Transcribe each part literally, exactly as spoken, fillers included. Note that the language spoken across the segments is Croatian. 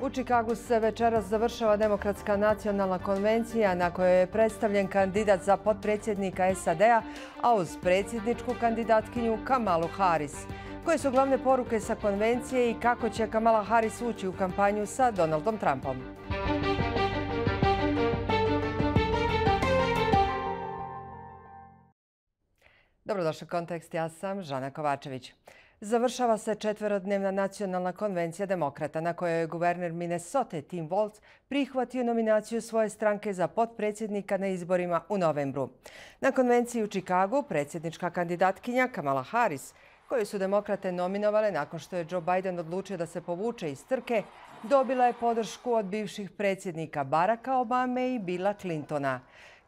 U Čikagu se večeras završava Demokratska nacionalna konvencija na kojoj je predstavljen kandidat za potpredsjednika S A D-a, a uz predsjedničku kandidatkinju Kamalu Harris. Koje su glavne poruke sa konvencije i kako će Kamala Harris ući u kampanju sa Donaldom Trumpom? Dobrodošli u Kontekst, ja sam Žana Kovačević. Završava se četverodnevna nacionalna konvencija demokrata na kojoj je guverner Minnesote Tim Walz prihvatio nominaciju svoje stranke za potpredsjednika na izborima u novembru. Na konvenciji u Čikagu predsjednička kandidatkinja Kamala Harris, koju su demokrate nominovale nakon što je Joe Biden odlučio da se povuče iz trke, dobila je podršku od bivših predsjednika Baracka Obame i Billa Clintona.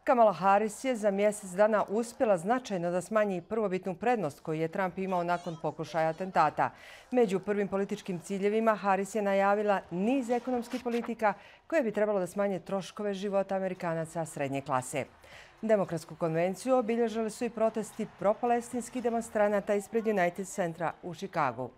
Kamala Harris je za mjesec dana uspjela značajno da smanji prvobitnu prednost koju je Trump imao nakon pokušaja atentata. Među prvim političkim ciljevima Harris je najavila niz ekonomskih politika koje bi trebalo da smanje troškove života Amerikanaca srednje klase. Demokratsku konvenciju obilježili su i protesti propalestinskih demonstranata ispred United Centra u Čikagu.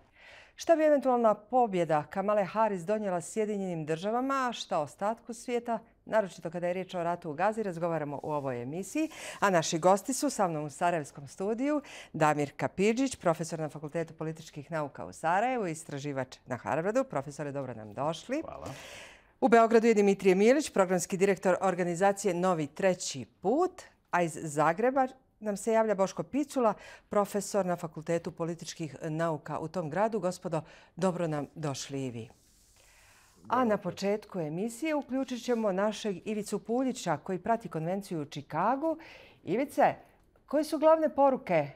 Šta bi eventualna pobjeda Kamale Harris donijela Sjedinjenim državama, a šta ostatku svijeta, naročito kada je riječ o ratu u Gazi, razgovaramo u ovoj emisiji. A naši gosti su sa mnom u Sarajevskom studiju Damir Kapidžić, profesor na Fakultetu političkih nauka u Sarajevu, istraživač na Harvardu. Profesore, dobro nam došli. Hvala. U Beogradu je Dimitrije Milić, programski direktor organizacije Novi treći put, a iz Zagreba nam se javlja Boško Picula, profesor na Fakultetu političkih nauka u tom gradu. Gospodo, dobro nam došli i vi. A na početku emisije uključit ćemo našeg Ivicu Puljića koji prati konvenciju u Čikagu. Ivice, koje su glavne poruke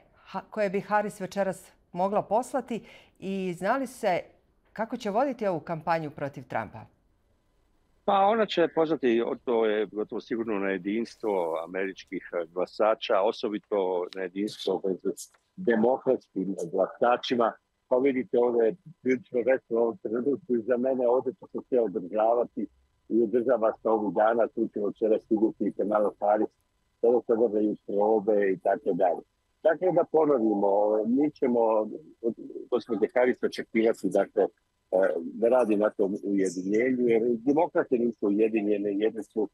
koje bi Harris večeras mogla poslati i znali se kako će voditi ovu kampanju protiv Trumpa? Pa ona će pozvati, to je gotovo sigurno, na jedinstvo američkih glasača, osobito na jedinstvo među demokratskim glasačima. Pa vidite, ovdje je prilično veselo u ovom trenutku i za mene ovdje će se sve održavati i održava se ovih dana. Tu ćemo včera stignuti Kamala Harris, sada se održaju probe i tako dalje. Dakle, da ponovimo, mi ćemo od gospođe Harris očekivati, dakle, da radi na tom ujedinjenju, jer demokrate nisu ujedinjene, jedni su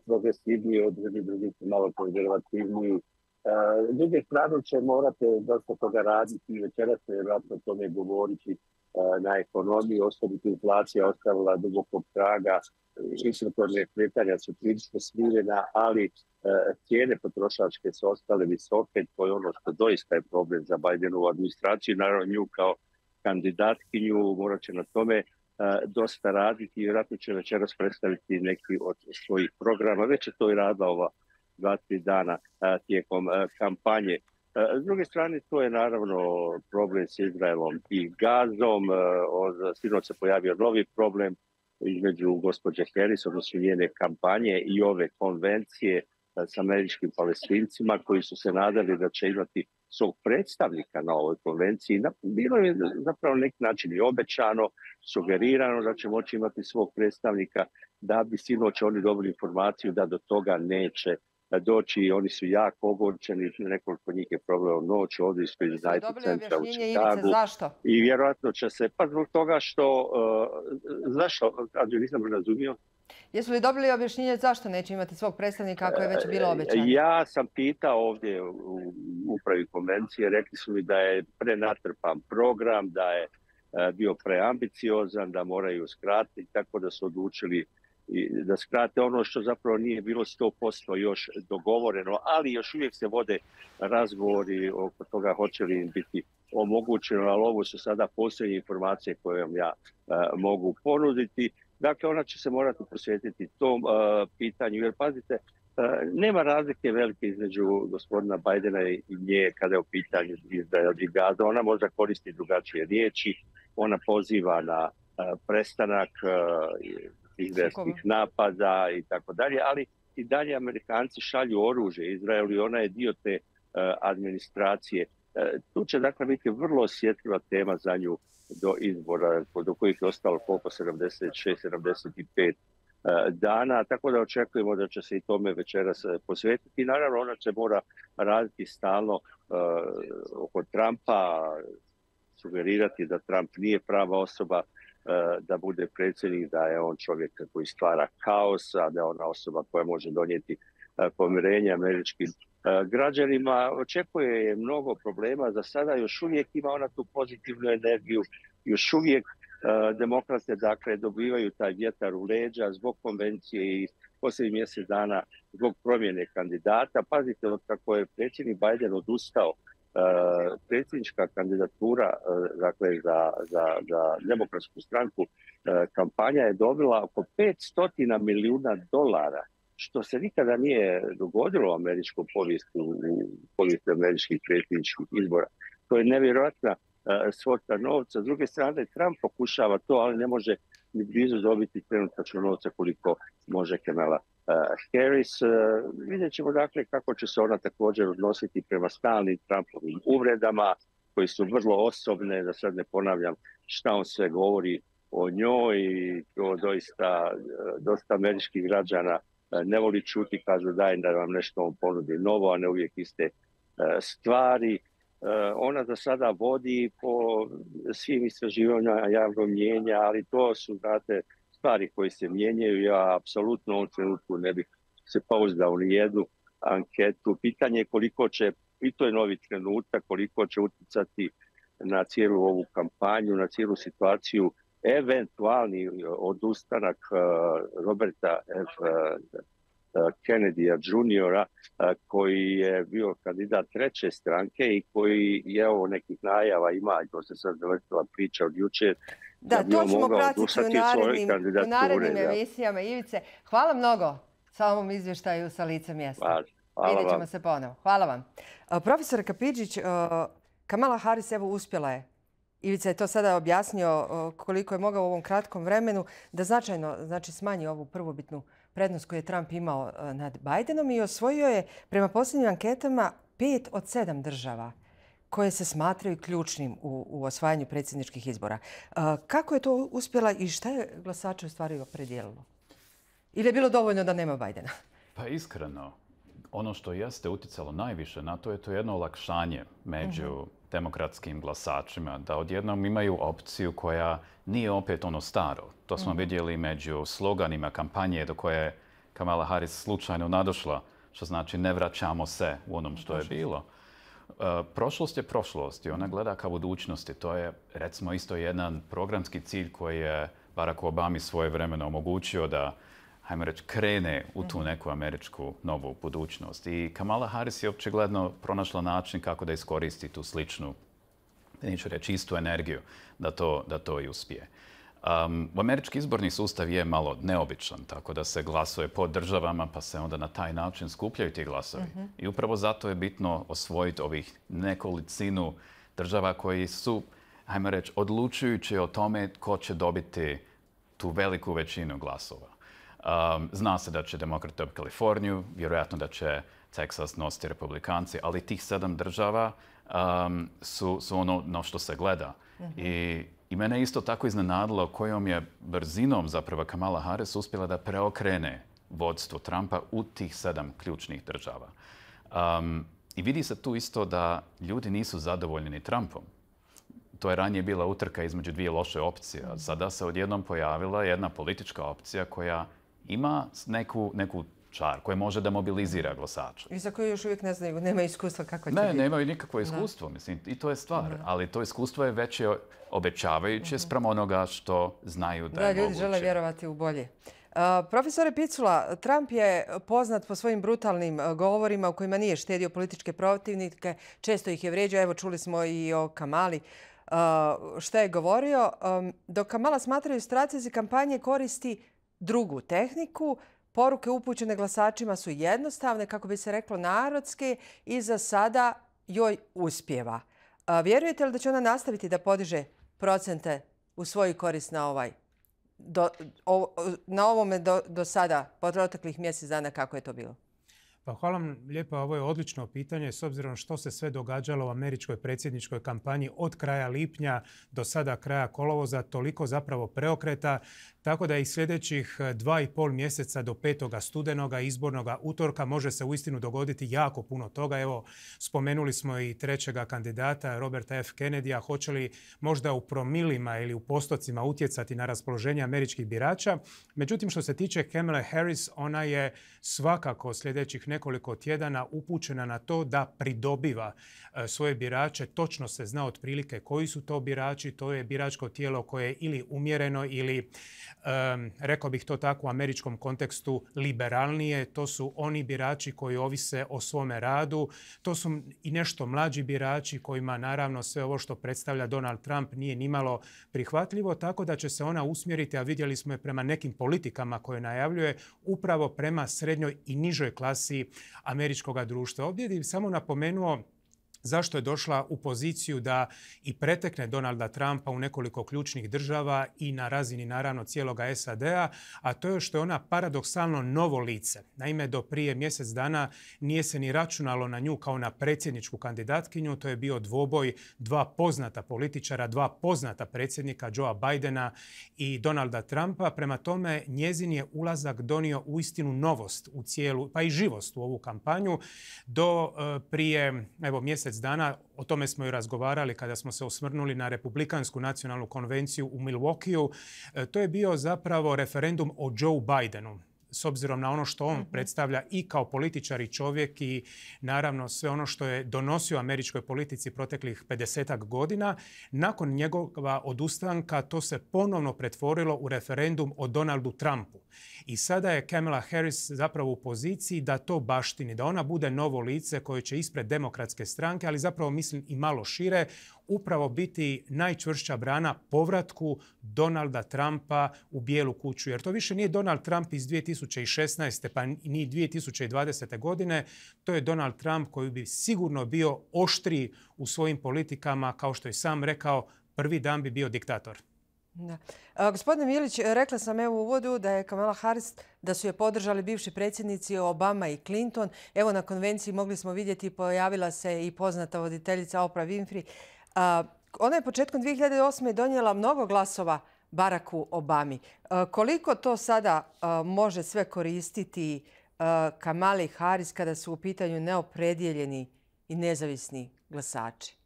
progresivniji, od drugih, drugi su malo konzervativniji. S druge strane će morate dosta toga raditi i večeras se vjerojatno o tome govoriti na ekonomiji, osobito inflacija ostavila dubokog traga, inflatorne kretanja su prilično smirena, ali cijene potrošačke su ostale visoke, to je ono što doista je problem za Bidenovu administraciju, naravno nju kao kandidatkinju morat će na tome dosta raditi i vjerojatno će večeras predstaviti neki od svojih programa. Već je to i radila ova dva, tri dana tijekom kampanje. S druge strane, to je naravno problem s Izraelom i Gazom. Sinoć se pojavio novi problem između gospođe Harris, odnosno njene kampanje i ove konvencije s američkim Palestincima koji su se nadali da će imati svog predstavnika na ovoj konvenciji. Bilo je zapravo na neki način i obećano, sugerirano da će moći imati svog predstavnika, da bi sinoć oni dobili informaciju da do toga neće doći. Oni su jako ogorčeni, nekoliko njih je provelo noć ovdje iz United Centra u Čikagu. Zašto? I vjerojatno će se, pa zbog toga što, uh, zašto, ja nisam razumio. Jesu li dobili objašnjenje zašto neće imati svog predstavnika ako je već bilo obećano? Ja sam pitao ovdje u upravi konvencije, rekli su mi da je prenatrpan program, da je bio preambiciozan, da moraju skratiti, tako da su odlučili da skrate ono što zapravo nije bilo sto posto još dogovoreno, ali još uvijek se vode razgovori oko toga hoće li im biti omogućeno, ali ovo su sada posljednje informacije koje vam ja uh, mogu ponuditi. Dakle, ona će se morati posvetiti tom uh, pitanju, jer pazite, uh, nema razlike velike između gospodina Bidena i nje kada je u pitanju Izrael i Gaza. Ona možda koristi drugačije riječi, ona poziva na uh, prestanak uh, izraelskih napada i tako dalje, ali i dalje Amerikanci šalju oružje Izraelu i ona je dio te uh, administracije. Uh, tu će dakle biti vrlo osjetljiva tema za nju do izbora, do kojih je ostalo koliko sedamdeset šest sedamdeset pet dana, tako da očekujemo da će se i tome večeras posvetiti. Naravno, ona će mora raditi stalno uh, oko Trumpa, sugerirati da Trump nije prava osoba da bude predsjednik, da je on čovjek koji stvara kaos, a da je ona osoba koja može donijeti pomirenje američkim građanima. Očekuje je mnogo problema. Za sada još uvijek ima ona tu pozitivnu energiju. Još uvijek demokrate dakle dobivaju taj vjetar u leđa zbog konvencije i posljednjih mjesec dana zbog promjene kandidata. Pazite, od kako je predsjednik Biden odustao, predsjednička kandidatura dakle, za, za, za demokratsku stranku, kampanja je dobila oko petsto milijuna dolara, što se nikada nije dogodilo u američkom povijesti, u povijesti američkih predsjedničkih izbora. To je nevjerojatna svota novca. S druge strane, Trump pokušava to, ali ne može ni blizu dobiti trenutačno novca koliko može Kamala Harris. Vidjet ćemo dakle kako će se ona također odnositi prema stalnim Trumpovim uvredama, koji su vrlo osobne, da sad ne ponavljam šta on sve govori o njoj, i to doista dosta američkih građana ne voli čuti, kažu daj da vam nešto on ponudi novo, a ne uvijek iste stvari. Ona za sada vodi po svim istraživanjima javnog mnijenja, ali to su, znate, stvari koje se mijenjaju. Ja apsolutno u ovom trenutku ne bih se pouzdao ni jednu anketu. Pitanje je koliko će, i to je novi trenutak, koliko će utjecati na cijelu ovu kampanju, na cijelu situaciju, eventualni odustanak Roberta F. Kennedyja juniora, koji je bio kandidat treće stranke i koji je ovo nekih najava ima, to se sad zavrtila priča od jučer. Da, da to ćemo pratiti u narednim, u narednim emisijama. Ivice, hvala mnogo sa ovom izvještaju sa lica mjesta. Hvala, hvala Vidjet ćemo vam. se ponovo. Hvala vam. Profesor Kapidžić, Kamala Harris evo uspjela je. Ivica je to sada objasnio koliko je mogao u ovom kratkom vremenu da značajno znači, smanji ovu prvobitnu prednost koju je Trump imao nad Bidenom i osvojio je prema posljednjim anketama pet od sedam država koje se smatraju ključnim u, u osvajanju predsjedničkih izbora. Kako je to uspjela i šta je glasače u stvari opredijelilo? Ili je bilo dovoljno da nema Bidena? Pa iskreno, ono što jeste utjecalo najviše na to je to jedno olakšanje među uh-huh. demokratskim glasačima, da odjednom imaju opciju koja nije opet ono staro. To smo uh-huh. vidjeli među sloganima kampanje do koje je Kamala Harris slučajno nadošla, što znači ne vraćamo se u onom što je bilo. Uh, prošlost je prošlost i ona gleda ka budućnosti. To je recimo isto jedan programski cilj koji je Barack Obama svojevremeno omogućio da hajmo reći, krene u tu neku američku novu budućnost. I Kamala Harris je očigledno pronašla način kako da iskoristi tu sličnu, neću reći istu energiju, da to, da to i uspije. Um, američki izborni sustav je malo neobičan, tako da se glasuje po državama, pa se onda na taj način skupljaju ti glasovi. Uh-huh. I upravo zato je bitno osvojiti ovih nekolicinu država koji su, hajmo reći, odlučujući o tome ko će dobiti tu veliku većinu glasova. Um, zna se da će demokrati dobiti Kaliforniju, vjerojatno da će Teksas nositi republikanci, ali tih sedam država um, su, su ono na što se gleda. Uh-huh. I, I mene isto tako iznenadilo kojom je brzinom zapravo Kamala Harris uspjela da preokrene vodstvo Trumpa u tih sedam ključnih država. Um, I vidi se tu isto da ljudi nisu zadovoljni ni Trumpom. To je ranije bila utrka između dvije loše opcije. A sada se odjednom pojavila jedna politička opcija koja ima neku, neku čar, koja može da mobilizira glasača. I za koje još uvijek ne znaju, nema iskustva kako će ne, biti. Ne, nemaju nikakvo iskustvo, da. Mislim, i to je stvar. Da. Ali to iskustvo je već obećavajuće uh-huh. sprem onoga što znaju da, da je moguće. Da, ljudi žele vjerovati u bolje. Uh, profesore Picula, Trump je poznat po svojim brutalnim uh, govorima u kojima nije štedio političke protivnike, često ih je vrijeđao, evo čuli smo i o Kamali. Uh, šta je govorio? Um, dok Kamala smatraju stratezi kampanje koristi drugu tehniku, poruke upućene glasačima su jednostavne, kako bi se reklo narodske, i za sada joj uspijeva. A vjerujete li da će ona nastaviti da podiže procente u svoju korist na ovaj do, o, na ovome do, do sada, po proteklih mjesec dana, kako je to bilo? Pa hvala vam lijepa, ovo je odlično pitanje s obzirom što se sve događalo u američkoj predsjedničkoj kampanji od kraja lipnja do sada kraja kolovoza, toliko zapravo preokreta, tako da i sljedećih dva i pol mjeseca do petoga studenoga izbornoga utorka može se uistinu dogoditi jako puno toga. Evo, spomenuli smo i trećega kandidata, Roberta F. Kennedya, hoće li možda u promilima ili u postocima utjecati na raspoloženje američkih birača. Međutim, što se tiče Kamale Harris, ona je svakako sljedećih nekoliko tjedana upućena na to da pridobiva svoje birače. Točno se zna otprilike koji su to birači. To je biračko tijelo koje je ili umjereno ili, um, rekao bih to tako u američkom kontekstu, liberalnije. To su oni birači koji ovise o svome radu. To su i nešto mlađi birači kojima naravno sve ovo što predstavlja Donald Trump nije nimalo prihvatljivo, tako da će se ona usmjeriti, a vidjeli smo je prema nekim politikama koje najavljuje, upravo prema srednjoj i nižoj klasi američkog društva. Ovdje bih samo napomenuo zašto je došla u poziciju da i pretekne Donalda Trumpa u nekoliko ključnih država i na razini naravno cijeloga S A D-a, a to je što je ona paradoksalno novo lice. Naime, do prije mjesec dana nije se ni računalo na nju kao na predsjedničku kandidatkinju. To je bio dvoboj dva poznata političara, dva poznata predsjednika, Joea Bidena i Donalda Trumpa. Prema tome, njezin je ulazak donio uistinu novost u cijelu, pa i živost u ovu kampanju. Do e, prije, evo, mjesec dana, o tome smo i razgovarali kada smo se osvrnuli na Republikansku nacionalnu konvenciju u Milwaukeeu. To je bio zapravo referendum o Joe Bidenu. S obzirom na ono što on mm-hmm. predstavlja i kao političar i čovjek i naravno sve ono što je donosio američkoj politici proteklih pedesetak godina, nakon njegova odustanka to se ponovno pretvorilo u referendum o Donaldu Trumpu. I sada je Kamala Harris zapravo u poziciji da to baštini, da ona bude novo lice koje će ispred demokratske stranke, ali zapravo mislim i malo šire, upravo biti najčvršća brana povratku Donalda Trumpa u Bijelu kuću. Jer to više nije Donald Trump iz dvije tisuće šesnaeste pa ni dvije tisuće dvadesete. godine. To je Donald Trump koji bi sigurno bio oštriji u svojim politikama, kao što je sam rekao, prvi dan bi bio diktator. Da. A, gospodine Milić, rekla sam evo u uvodu da je Kamala Harris, da su je podržali bivši predsjednici Obama i Clinton. Evo na konvenciji mogli smo vidjeti, pojavila se i poznata voditeljica Oprah Winfrey. A, ona je početkom dvije hiljade osme. donijela mnogo glasova Baracku Obami. A, koliko to sada a, može sve koristiti a, Kamali Harris kada su u pitanju neopredijeljeni i nezavisni glasači?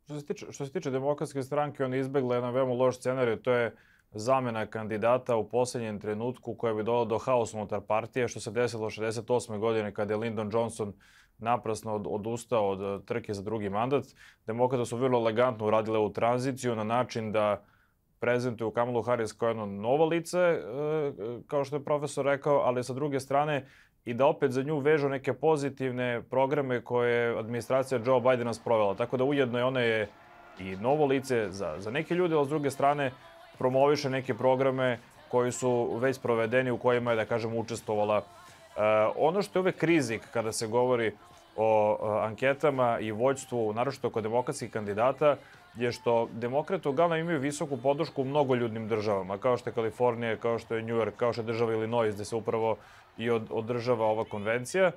Što se tiče, što se tiče demokratske stranke, on je izbjegla jedan veoma loš scenarij, to je zamjena kandidata u posljednjem trenutku koja bi dovela do haosa unutar partije, što se desilo šezdeset osme. godine kada je Lyndon Johnson naprasno od, odustao od trke za drugi mandat. Demokrate su vrlo elegantno uradile ovu tranziciju na način da prezentuju Kamalu Harris kao jedno novo lice, kao što je profesor rekao, ali sa druge strane i da opet za nju vežu neke pozitivne programe koje je administracija Joe Bidena sprovela. Tako da ujedno je ona je i novo lice za, za neke ljude, ali s druge strane promoviše neke programe koji su već sprovedeni, u kojima je, da kažem, učestvovala. E, ono što je uvek rizik kada se govori o e, anketama i vođstvu, naročito kod demokratskih kandidata, je što demokrate uglavnom imaju visoku podršku u mnogoljudnim državama, kao što je Kalifornija, kao što je New York, kao što je država Illinois, gde se upravo i od, održava ova konvencija. E,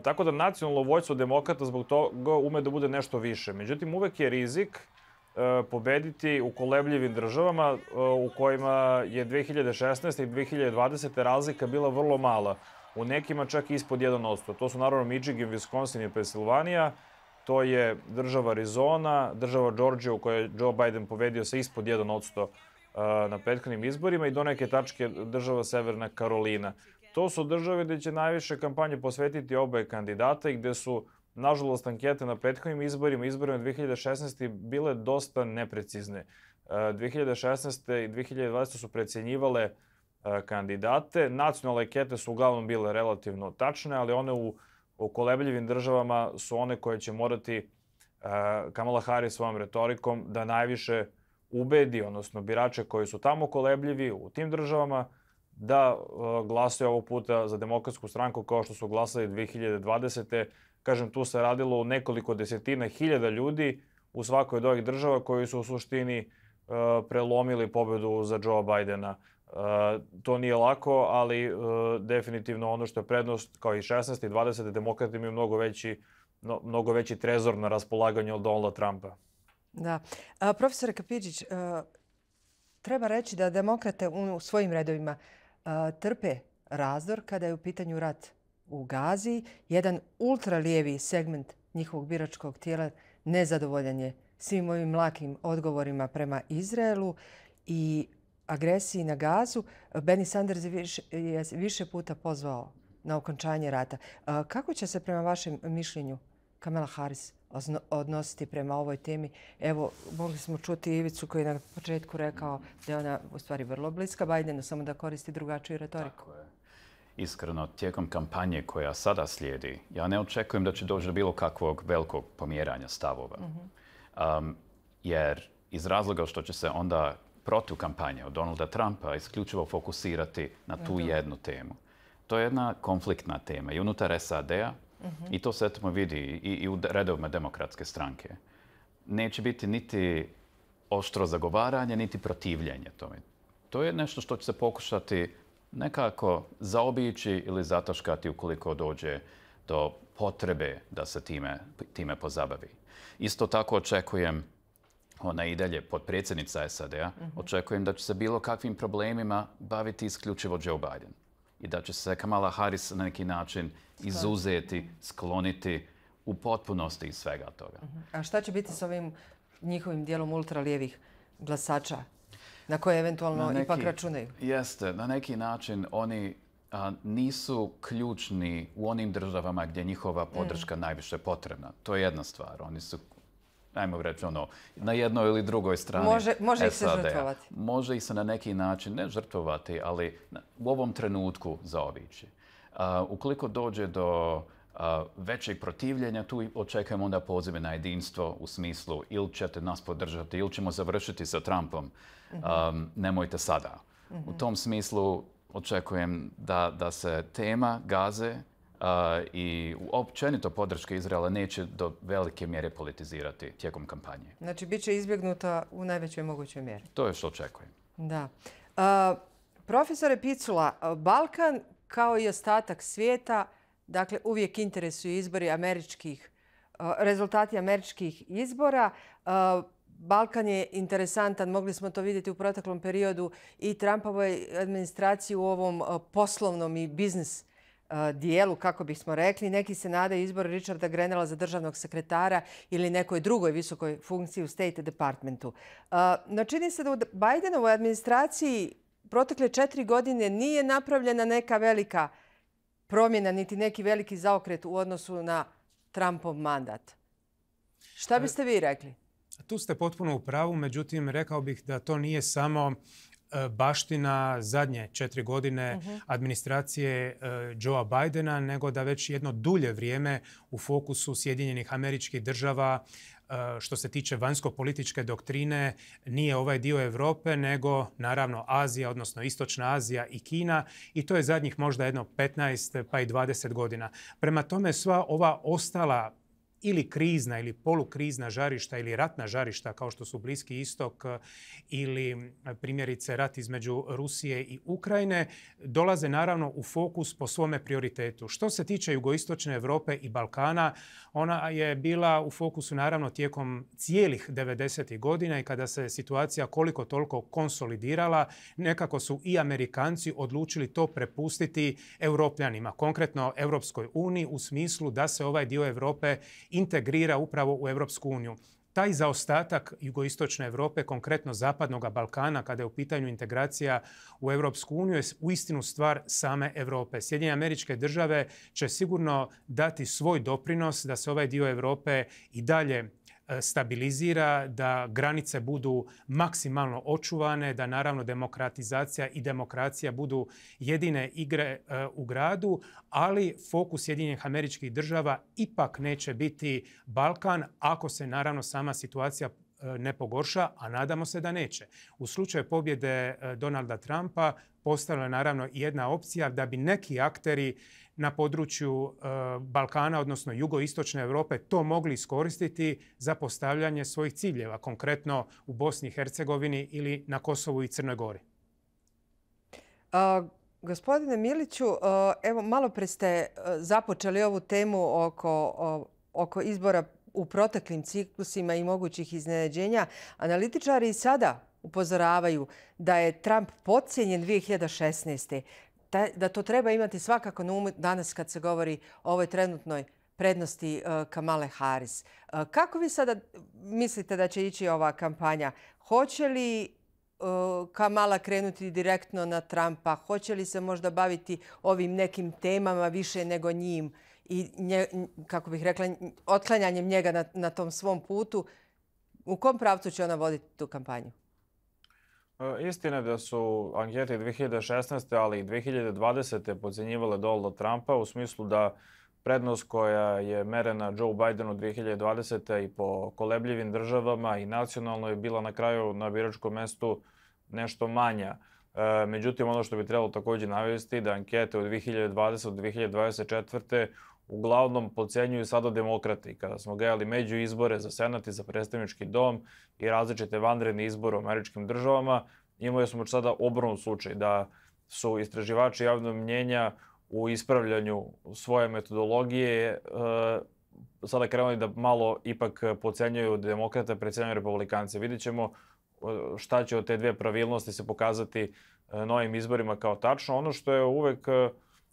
tako da nacionalno vođstvo demokrata zbog toga ume da bude nešto više. Međutim, uvek je rizik e, pobediti u kolebljivim državama e, u kojima je dvije hiljade šesnaeste. i dvije hiljade dvadesete. razlika bila vrlo mala. U nekima čak ispod jedan posto. To su naravno Michigan, Wisconsin i Pensilvanija. To je država Arizona, država Georgia u kojoj je Joe Biden pobedio sa ispod jedan posto na prethodnim izborima i do neke tačke država Severna Karolina. To su države gde će najviše kampanje posvetiti oboje kandidata i gde su, nažalost, ankete na prethodnim izborima, izborima dvije hiljade šesnaeste. bile dosta neprecizne. dvije hiljade šesnaeste. i dvije hiljade dvadesete. su precenjivale kandidate. Nacionalne ankete su uglavnom bile relativno tačne, ali one u u kolebljivim državama su one koje će morati uh, Kamala Harris svojom retorikom da najviše ubedi, odnosno birače koji su tamo kolebljivi u tim državama, da uh, glasaju ovog puta za demokratsku stranku kao što su glasali dvije hiljade dvadesete. Kažem, tu se radilo u nekoliko desetina hiljada ljudi u svakoj od ovih država koji su u suštini uh, prelomili pobedu za Joe Bidena. To nije lako, ali definitivno ono što je prednost, kao i šesnaeste i dvadesete demokrati imaju mnogo veći, mnogo veći trezor na raspolaganju od Donalda Trumpa. Da. A, profesore Kapidžić, treba reći da demokrate u svojim redovima trpe razdor kada je u pitanju rat u Gazi. Jedan ultralijevi segment njihovog biračkog tijela nezadovoljan je svim ovim mlakim odgovorima prema Izraelu i agresiji na Gazu. Bernie Sanders je više, je više puta pozvao na okončanje rata. Kako će se prema vašem mišljenju Kamala Harris odnositi prema ovoj temi? Evo, mogli smo čuti Ivicu koji je na početku rekao da je ona u stvari vrlo bliska Bidenu, samo da koristi drugačiju retoriku. Tako je. Iskreno, tijekom kampanje koja sada slijedi, ja ne očekujem da će doći do bilo kakvog velikog pomjeranja stavova. Mm-hmm. um, jer iz razloga što će se onda protiv kampanje od Donalda Trumpa isključivo fokusirati na tu mm-hmm. jednu temu. To je jedna konfliktna tema i unutar S A D-a mm-hmm. i to se etimo vidi i, i u redovima demokratske stranke. Neće biti niti oštro zagovaranje, niti protivljenje tome. To je nešto što će se pokušati nekako zaobići ili zataškati ukoliko dođe do potrebe da se time, time pozabavi. Isto tako očekujem, ona i dalje potpredsjednica S A D-a, mm-hmm. očekujem da će se bilo kakvim problemima baviti isključivo Joe Biden. I da će se Kamala Harris na neki način izuzeti, skloniti u potpunosti iz svega toga. Mm-hmm. A šta će biti s ovim njihovim dijelom ultralijevih glasača na koje eventualno neki, ipak računaju? Jeste, na neki način oni a, nisu ključni u onim državama gdje njihova podrška mm. najviše potrebna. To je jedna stvar. Oni su, ajmo reći, ono, na jednoj ili drugoj strani Može, može ih se žrtvovati. Može ih se na neki način, ne žrtvovati, ali u ovom trenutku zaobići. A, ukoliko dođe do a, većeg protivljenja, tu očekujemo onda pozive na jedinstvo u smislu ili ćete nas podržati ili ćemo završiti sa Trumpom. Um, nemojte sada. Mm-hmm. U tom smislu očekujem da, da se tema Gaze uh, i općenito podrške Izraela neće do velike mjere politizirati tijekom kampanje. Znači, bit će izbjegnuta u najvećoj mogućoj mjeri. To je što očekujem. Da. Uh, profesore Picula, Balkan kao i ostatak svijeta, dakle, uvijek interesuju izbori američkih, uh, rezultati američkih izbora. Uh, Balkan je interesantan, mogli smo to vidjeti u proteklom periodu i Trumpovoj administraciji u ovom poslovnom i biznis dijelu, kako bismo rekli. Neki se nadaju izboru Richarda Grenella za državnog sekretara ili nekoj drugoj visokoj funkciji u State Departmentu. No čini se da u Bidenovoj administraciji protekle četiri godine nije napravljena neka velika promjena, niti neki veliki zaokret u odnosu na Trumpov mandat. Šta biste vi rekli? Tu ste potpuno u pravu, međutim rekao bih da to nije samo baština zadnje četiri godine uh-huh. administracije Joea Bidena, nego da već jedno dulje vrijeme u fokusu Sjedinjenih Američkih Država što se tiče vanjsko-političke doktrine nije ovaj dio Europe, nego naravno Azija, odnosno Istočna Azija i Kina, i to je zadnjih možda jedno petnaest pa i dvadeset godina. Prema tome sva ova ostala ili krizna ili polukrizna žarišta ili ratna žarišta kao što su Bliski istok ili primjerice rat između Rusije i Ukrajine dolaze naravno u fokus po svome prioritetu. Što se tiče jugoistočne Europe i Balkana, ona je bila u fokusu naravno tijekom cijelih devedesetih godina i kada se situacija koliko toliko konsolidirala, nekako su i Amerikanci odlučili to prepustiti Europljanima, konkretno Europskoj uniji, u smislu da se ovaj dio Europe integrira upravo u Europsku uniju. Taj zaostatak jugoistočne Europe, konkretno zapadnog Balkana, kada je u pitanju integracija u Europsku uniju, je uistinu stvar same Europe. Sjedinjene Američke Države će sigurno dati svoj doprinos da se ovaj dio Europe i dalje stabilizira, da granice budu maksimalno očuvane, da naravno demokratizacija i demokracija budu jedine igre u gradu, ali fokus Sjedinjenih Američkih Država ipak neće biti Balkan ako se naravno sama situacija ne pogorša, a nadamo se da neće. U slučaju pobjede Donalda Trumpa postala je naravno jedna opcija da bi neki akteri na području e, Balkana, odnosno jugoistočne Europe, to mogli iskoristiti za postavljanje svojih ciljeva, konkretno u Bosni i Hercegovini ili na Kosovu i Crnoj Gori. A, gospodine Miliću, evo malo pre ste započeli ovu temu oko, oko izbora u proteklim ciklusima i mogućih iznenađenja. Analitičari i sada upozoravaju da je Trump podcijenjen dvije hiljade šesnaeste. Da to treba imati svakako na umu danas kad se govori o ovoj trenutnoj prednosti Kamale Harris. Kako vi sada mislite da će ići ova kampanja? Hoće li Kamala krenuti direktno na Trumpa? Hoće li se možda baviti ovim nekim temama više nego njim i, nje, kako bih rekla, otklanjanjem njega na, na tom svom putu? U kom pravcu će ona voditi tu kampanju? Istina je da su ankete dvije hiljade šesnaeste. ali i dvije hiljade dvadesete. podcjenjivale Donalda Trumpa u smislu da prednost koja je merena Joe Bidenu dvije hiljade dvadesete. i po kolebljivim državama i nacionalno je bila na kraju na biračkom mestu nešto manja. E, međutim, ono što bi trebalo također navesti da ankete od dvije hiljade dvadesete. do dvije hiljade dvadeset četvrte. uglavnom podcenjuju sada demokrati. Kada smo gledali među izbore za senat i za predstavnički dom i različite vanredne izbore u američkim državama, imali smo još sada obrnut slučaj da su istraživači javnog mnjenja u ispravljanju svoje metodologije e, sada krenuli da malo ipak podcenjuju demokrate, precenjuju republikance. Vidjet ćemo šta će od te dvije pravilnosti se pokazati novim izborima kao tačno. Ono što je uvek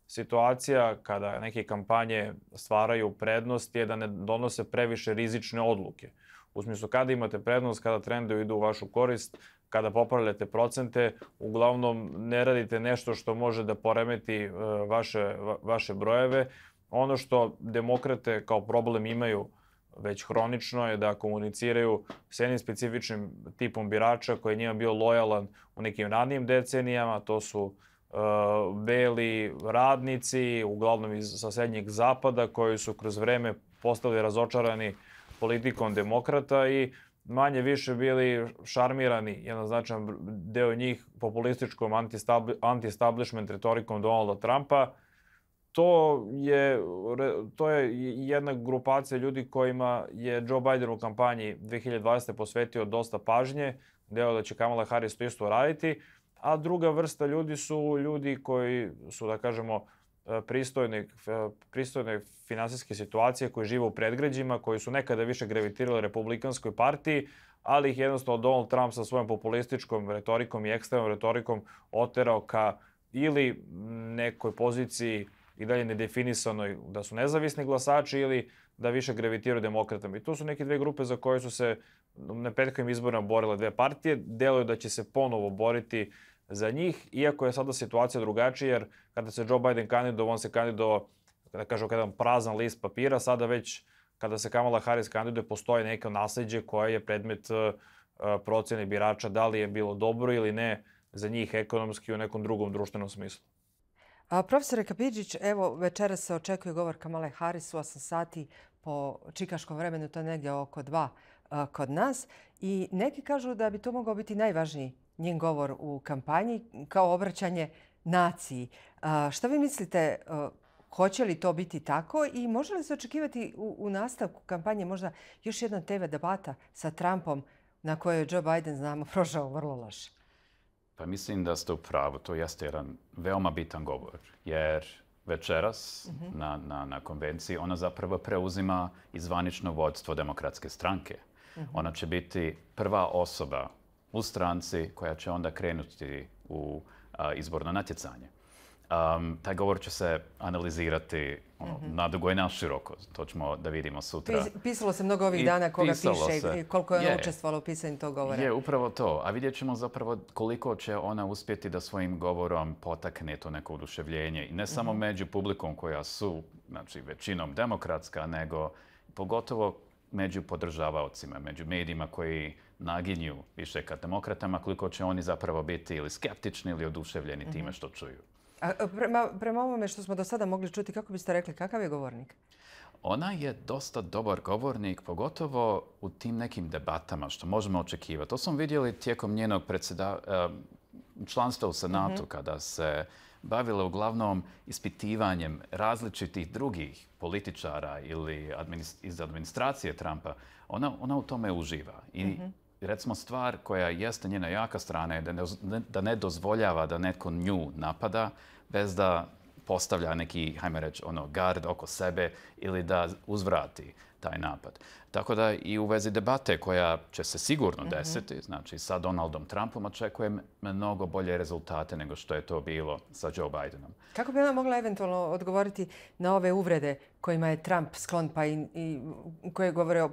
situacija kada neke kampanje stvaraju prednost je da ne donose previše rizične odluke. U smislu kada imate prednost, kada trendovi idu u vašu korist, kada popravljate procente, uglavnom ne radite nešto što može da poremeti vaše, vaše brojeve. Ono što demokrate kao problem imaju već hronično je da komuniciraju s jednim specifičnim tipom birača koji je njima bio lojalan u nekim ranijim decenijama. To su uh, beli radnici, uglavnom iz sa srednjeg zapada, koji su kroz vreme postali razočarani politikom demokrata i manje više bili šarmirani, jedan značajan deo njih, populističkom anti-establishment retorikom Donalda Trumpa. To je, to je jedna grupacija ljudi kojima je Joe Biden u kampanji dvije hiljade dvadesete. posvetio dosta pažnje, deo da će Kamala Harris to isto raditi, a druga vrsta ljudi su ljudi koji su, da kažemo, pristojne, pristojne finansijske situacije, koji žive u predgrađima, koji su nekada više gravitirali republikanskoj partiji, ali ih jednostavno Donald Trump sa svojom populističkom retorikom i ekstremnom retorikom oterao ka ili nekoj poziciji i dalje nedefinisanoj da su nezavisni glasači ili da više gravitiraju demokratama. I to su neke dve grupe za koje su se na prethodnim izborima borile dve partije. Deluje da će se ponovo boriti za njih, iako je sada situacija drugačija, jer kada se Joe Biden kandidovao, on se kandidovao, da kažem, jedan prazan list papira. Sada već, kada se Kamala Harris kandiduje, postoji neko nasleđe koje je predmet procjene birača, da li je bilo dobro ili ne za njih ekonomski u nekom drugom društvenom smislu. A, profesore Kapidžić, evo večeras se očekuje govor Kamale Harris u osam sati po čikaškom vremenu, to je negdje oko dva a, kod nas. I neki kažu da bi to mogao biti najvažniji njen govor u kampanji kao obraćanje naciji. A, šta vi mislite, a, hoće li to biti tako i može li se očekivati u, u nastavku kampanje možda još jedna te ve debata sa Trumpom na kojoj je Joe Biden, znamo, prošao vrlo loše? Pa mislim da ste u pravu. To jeste jedan veoma bitan govor. Jer večeras mm-hmm. na, na, na konvenciji ona zapravo preuzima izvanično vodstvo Demokratske stranke. Mm-hmm. Ona će biti prva osoba u stranci koja će onda krenuti u a, izborno natjecanje. Um, taj govor će se analizirati ono, mm-hmm. nadugo i naširoko. To ćemo da vidimo sutra. Pisalo se mnogo ovih dana koga piše se. i koliko je ona je. učestvovala u pisanju tog govora. Je, upravo to. A vidjet ćemo zapravo koliko će ona uspjeti da svojim govorom potakne to neko oduševljenje. I ne samo mm-hmm. među publikom koja su, znači, većinom demokratska, nego pogotovo među podržavaocima, među medijima koji naginju više ka demokratama, koliko će oni zapravo biti ili skeptični ili oduševljeni mm-hmm. time što čuju. A prema, prema ovome što smo do sada mogli čuti, kako biste rekli, kakav je govornik? Ona je dosta dobar govornik, pogotovo u tim nekim debatama što možemo očekivati. To smo vidjeli tijekom njenog predsjeda, članstva u Senatu, mm-hmm. kada se bavila uglavnom ispitivanjem različitih drugih političara ili administ, iz administracije Trumpa. Ona, ona u tome uživa. I mm-hmm. recimo stvar koja jeste njena jaka strana je da ne, da ne dozvoljava da netko nju napada bez da postavlja neki, hajme reći, ono, gard oko sebe ili da uzvrati taj napad. Tako da i u vezi debate koja će se sigurno mm-hmm. desiti, znači sa Donaldom Trumpom očekujem mnogo bolje rezultate nego što je to bilo sa Joe Bidenom. Kako bi ona mogla eventualno odgovoriti na ove uvrede kojima je Trump sklon pa i, i koje govore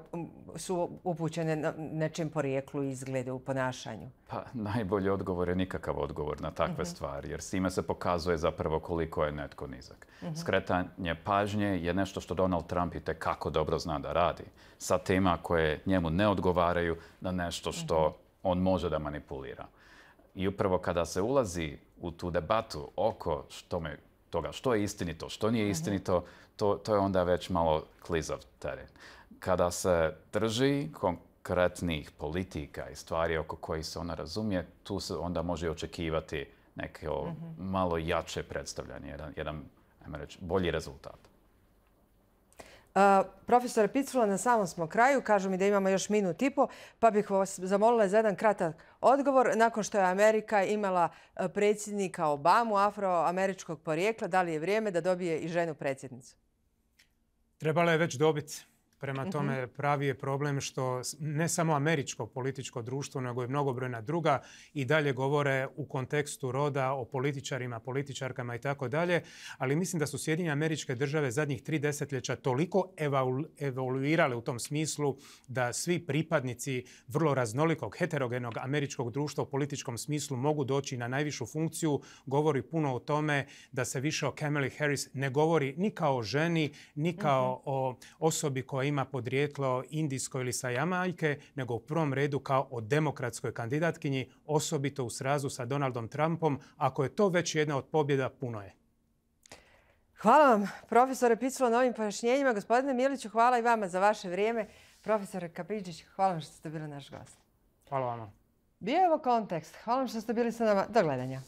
su upućene na nečem porijeklu i izgledu u ponašanju? Pa najbolji odgovor je nikakav odgovor na takve mm-hmm. stvari, jer s time se pokazuje zapravo koliko je netko nizak. Mm-hmm. Skretanje pažnje je nešto što Donald Trump itekako dobro zna da radi. Sa tema koje njemu ne odgovaraju na nešto što mm-hmm. on može da manipulira. I upravo kada se ulazi u tu debatu oko što me, toga što je istinito, što nije istinito, mm-hmm. to, to je onda već malo klizav teren. Kada se drži konkretnih politika i stvari oko kojih se ona razumije, tu se onda može očekivati neko mm-hmm. malo jače predstavljanje, jedan, jedan ajmo reći, bolji rezultat. Uh, profesore Picula, na samom smo kraju. Kažu mi da imamo još minut i po, pa bih vas zamolila za jedan kratak odgovor. Nakon što je Amerika imala predsjednika Obamu, afroameričkog porijekla, da li je vrijeme da dobije i ženu predsjednicu? Trebala je već dobiti. Prema tome, pravi je problem što ne samo američko političko društvo, nego i mnogobrojna druga i dalje govore u kontekstu roda o političarima, političarkama i tako dalje. Ali mislim da su Sjedinjene Američke Države zadnjih tri desetljeća toliko evoluirale u tom smislu da svi pripadnici vrlo raznolikog, heterogenog američkog društva u političkom smislu mogu doći na najvišu funkciju. Govori puno o tome da se više o Kamali Harris ne govori ni kao o ženi, ni kao mm-hmm. o osobi koja ima podrijetlo indijsko ili sa Jamajke, nego u prvom redu kao o demokratskoj kandidatkinji, osobito u srazu sa Donaldom Trumpom. Ako je to već jedna od pobjeda, puno je. Hvala vam, profesore Picula, na ovim pojašnjenjima. Gospodine Miliću, hvala i vama za vaše vrijeme. Profesore Kapidžić, hvala vam što ste bili naš gost. Hvala vama. Bio je ovo Kontekst. Hvala vam što ste bili sa nama. Do gledanja.